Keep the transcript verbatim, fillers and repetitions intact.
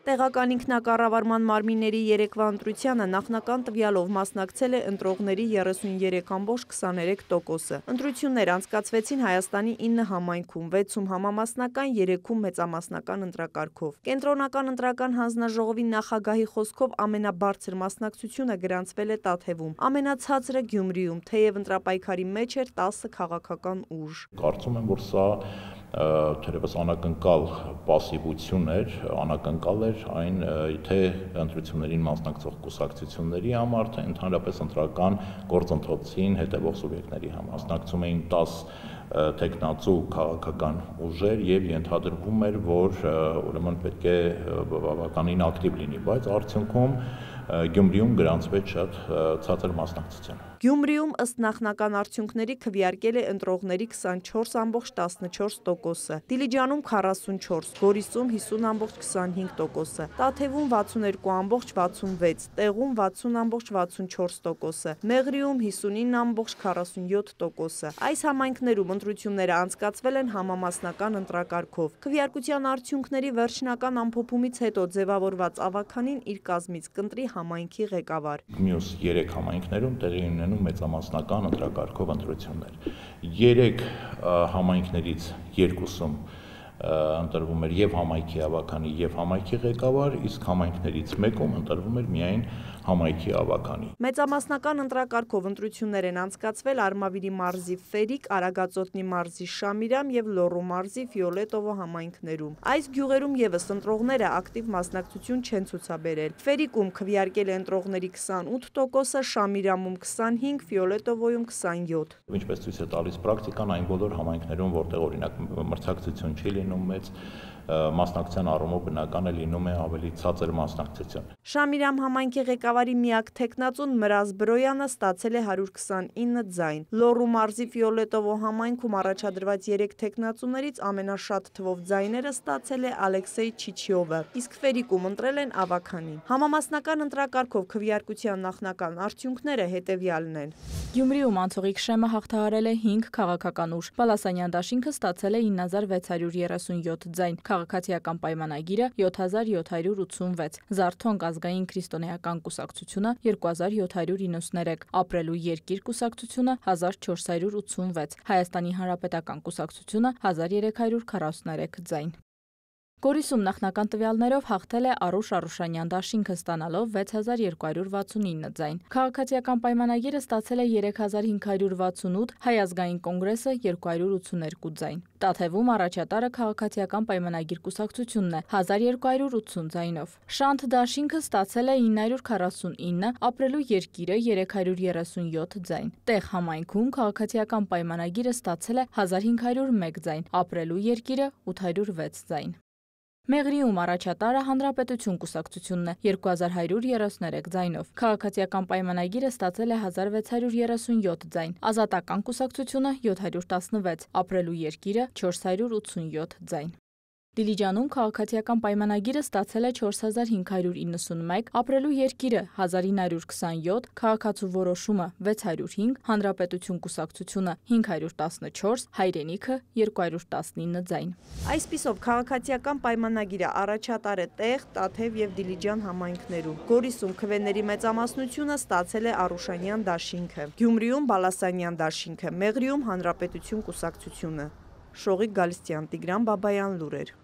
Տեղական ինքնակառավարման մարմինների երեկվա ընտրությանը նախնական տվյալով մասնակցել է ընտրողների երեսուններեք կόμma քսաներեք տոկոսը։ Ընտրություններ անցկացվեցին Հայաստանի ինը համայնքում, վեցում համամասնական, երեքում մեծամասնական ընտրակարգով։ Կենտրոնական ընտրական հանձնաժողովի նախագահի խոսքով ամենաբարձր մասնակցությունը գրանցվել է Տաթևում, ամենացածրը Գյումրիում, թեև ընտրապայքարի մեջ էր տասը քաղաքական ուժ։ Կարծում եմ, որ սա թերևս անակնկալ պասիվություն էր, անակնկալ էր այն թե ընտրություններին մասնակցող կուսակցությունների համար, թե ընդհանրապես ընտրական գործընթացին հետևող սուբյեկտների համար։ Մասնակցում էին տասը տեխնացու քաղաքական ուժեր եւ ենթադրվում էր, որ ուրեմն պետք է բավականին ակտիվ լինի, բայց արդյունքում Գյումրիում գրանցվեց շատ ցածր մասնակցություն։ Գյումրիում ըստ նախնական արդյունքների քվեարկել է ընտրողների քսանչորս կόμma տասնչորս տոկոսը, Դիլիջանում քառասունչորս, Գորիսում հիսուն կόμma քսանհինգ տոկոսը, Տաթևում վաթսուններեք կόμma վաթսունվեց, Տեղում վաթսուն կόμma վաթսունչորս տոկոսը, Մեղրիում հիսունինը կόμma քառասունյոթ տոկոսը։ Այս համայնքներում ընտրությունները անցկացվել են համամասնական ընտրակարգով։ Քվեարկության արդյունքների վերջնական ամփոփումից հետո ձևավորված ավականին իր կազմից կընտրի համայնքի ղեկավար։ Մյուս երեք համայնքներում տեղի ունենում մեծամասնական ընտրակարգով ընտրություններ։ Երեք համայնքներից երկուսում ընտրվում էր եւ համայնքի ավականի եւ համայնքի ղեկավար, իսկ համայնքներից մեկում ընտրվում էր միայն համայնքի ավականի։ Մեծամասնական ընտրակարգով ընտրություններ են անցկացվել Արմավիրի մարզի Ֆերիկ, Արագածոտնի մարզի Շամիրամ եւ Լոռու մարզի Ֆիոլետովո համայնքներում։ Այս գյուղերում եւս ընտրողները ակտիվ մասնակցություն չեն ցուցաբերել։ Ֆերիկում քվեարկել է ընտրողների քսանութ տոկոսը, Շամիրամում քսանհինգ, Ֆիոլետովոյում քսանյոթ։ Ինչպես ցույց է տալիս պրակտիկան, այն բոլոր համայնքներում, որտեղ օրինակ մրցակցություն չի լինում մեծ, մասնակցության առումով բնական է լինում է ավելի ցածր մասնակցություն։ Շամիրամ համայնքի ղեկավարի միակ տեխնացուն Մրազ Բրոյանը ստացել է հարյուր քսանինը ձայն։ Լոռու մարզի Ֆիոլետովո համայնքում առաջադրված երեք տեխնացուներից ամենաշատ թվով ձայները ստացել է Ալեքսեյ Չիչյովը, իսկ Ֆերիկում ընտրել են ավականին։ Համամասնական ընտրակարգով քվեարկության նախնական արդյունքները հետևյալն են։ Գյումրիում անցողիկ շեմը հաղթահարել է հինգ քաղաքական ուժ։ Բալասանյան դաշինքը ստացել է ինը հազար վեց հարյուր երեսունյոթ ձայն, Քաղաքացիական պայմանագիրը յոթ հազար յոթ հարյուր ութսունվեց, Զարթոնք ազգային քրիստոնեական կուսակցությունը երկու հազար յոթ հարյուր իննսուներեք, Ապրելու երկիր կուսակցությունը հազար չորս հարյուր ութսունվեց, Հայաստանի հանրապետական կուսակցությունը հազար երեք հարյուր քառասուներեք ձայն։ Գորիսում նախնական տվյալներով հաղթել է Արուշ Արուշանյան դաշինքը ստանալով վեց հազար երկու հարյուր վաթսունինը ձայն։ Քաղաքացիական պայմանագիրը ստացել է երեք հազար հինգ հարյուր վաթսունութ, Հայ ազգային կոնգրեսը երկու հարյուր ութսուներկու ձայն։ Տաթևում առաջատարը Քաղաքացիական պայմանագիր կուսակցությունն է հազար երկու հարյուր ութսուն ձայնով։ Շանթ դաշինքը ստացել է ինը հարյուր քառասունինը, Ապրելու երկիրը երեք հարյուր երեսունյոթ ձայն։ Տեղ համայնքում Քաղաքացիական պայմանագիրը ստացել է հազար հինգ հարյուր մեկ ձայն, Ապրելու երկիրը ութ հարյուր վեց ձայն։ Մեղրիում առաջատարը Հանրապետություն կուսակցությունն է երկու հազար հարյուր երեսուներեք ձայնով։ Քաղաքացիական պայմանագիրը ստացել է հազար վեց հարյուր երեսունյոթ ձայն, Ազատական կուսակցությունը յոթ հարյուր տասնվեց, Ապրելու երկիրը չորս հարյուր ութսունյոթ ձայն։ Դիլիջանում քաղաքացիական պայմանագիրը ստացել է չորս հազար հինգ հարյուր իննսունմեկ, Ապրելու երկիրը հազար ինը հարյուր քսանյոթ, Քաղաքացու որոշումը վեց հարյուր հինգ, Հանրապետություն կուսակցությունը հինգ հարյուր տասնչորս, Հայրենիքը երկու հարյուր տասնինը ձայն։ Այսպիսով քաղաքացիական պայմանագիրը առաջատար է Տեղ, Տաթև եւ Դիլիջան համայնքներում։ Գորիսում քվեների մեծամասնությունը ստացել է Արուշանյան դաշինքը, Գյումրիում Բալասանյան դաշինքը, Մեղրիում Հանրապետություն կուսակցությունը։ Շողիկ Գալստյան, Տիգրան Բաբայան, լուրեր։